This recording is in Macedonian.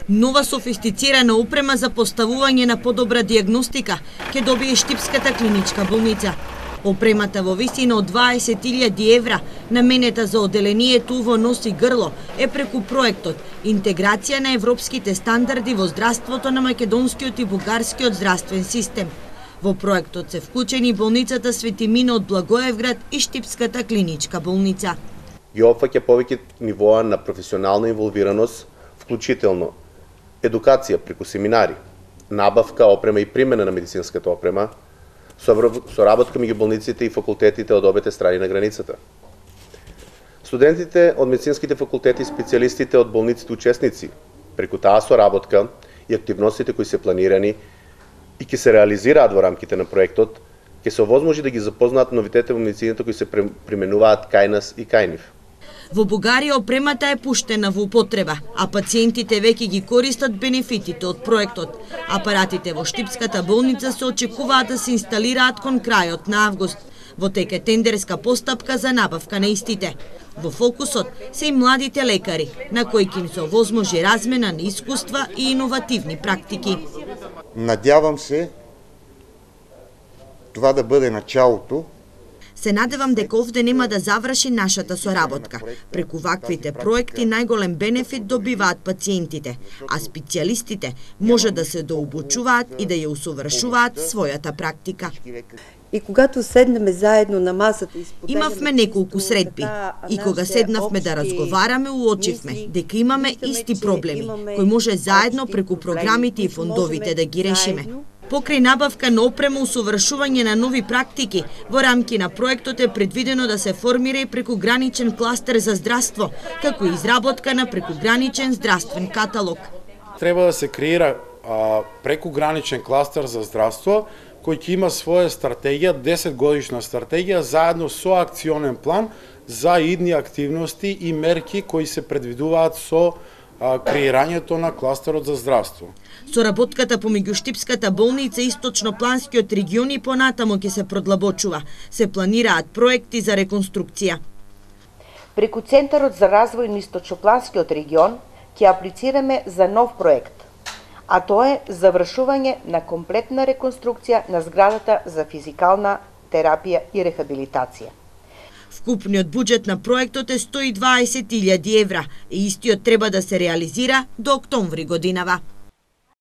Нова софистицирана опрема за поставување на подобра диагностика ќе добие Штипската клиничка болница. Опремата во висина од 20.000 евра, наменета за оделението во нос и грло, е преку проектот Интеграција на европските стандарди во здравството на македонскиот и бугарскиот здравствен систем. Во проектот се вклучени болницата Свети Мине од Благоевград и Штипската клиничка болница. Ги опфаќа повеќе нивоа на професионална инволвираност, вклучително едукација преку семинари, набавка, опрема и примена на медицинската опрема, соработка меѓу болниците и факултетите од обете страни на границата. Студентите од медицинските факултети и специјалистите од болниците учесници, преку таа соработка и активностите кои се планирани и ќе се реализираат во рамките на проектот, ќе се овозможи да ги запознаат новитетите во медицината кои се применуваат кај нас и кај нив. Во Бугарија опремата е пуштена во употреба, а пациентите веќе ги користат бенефитите од проектот. Апаратите во Штипската болница се очекуваат да се инсталираат кон крајот на август. Во тек е тендерска постапка за набавка на истите. Во фокусот се и младите лекари, на кои ќе им се овозможи размена на искуства и иновативни практики. Надявам се това да биде началото. Се надевам дека овде нема да заврши нашата соработка. Преку ваквите проекти најголем бенефит добиваат пациентите, а специјалистите може да се дообучуваат и да ја усовршуваат својата практика. И когато седнеме заедно на масата и споделиме... Имавме неколку средби и кога седнавме да разговараме, уочивме дека имаме исти проблеми, кои може заедно преку програмите и фондовите да ги решиме. Покрај набавка на опрема, усовршување на нови практики, во рамки на проектот е предвидено да се формира и прекуграничен кластер за здравство, како и изработка на прекуграничен здравствен каталог. Треба да се креира прекуграничен кластер за здравство, кој ќе има своја стратегија, 10-годишна стратегија, заедно со акционен план за идни активности и мерки кои се предвидуваат со креирањето на кластерот за здравство. Соработката помеѓу Штипската болница и Источнопланскиот регион и понатамо ќе се продлабочува. Се планираат проекти за реконструкција. Преку Центарот за развој на Источнопланскиот регион ќе аплицираме за нов проект, а тоа е завршување на комплетна реконструкција на зградата за физикална терапија и рехабилитација. Вкупниот буџет на проектот е 120.000 евра и истиот треба да се реализира до октомври годинава.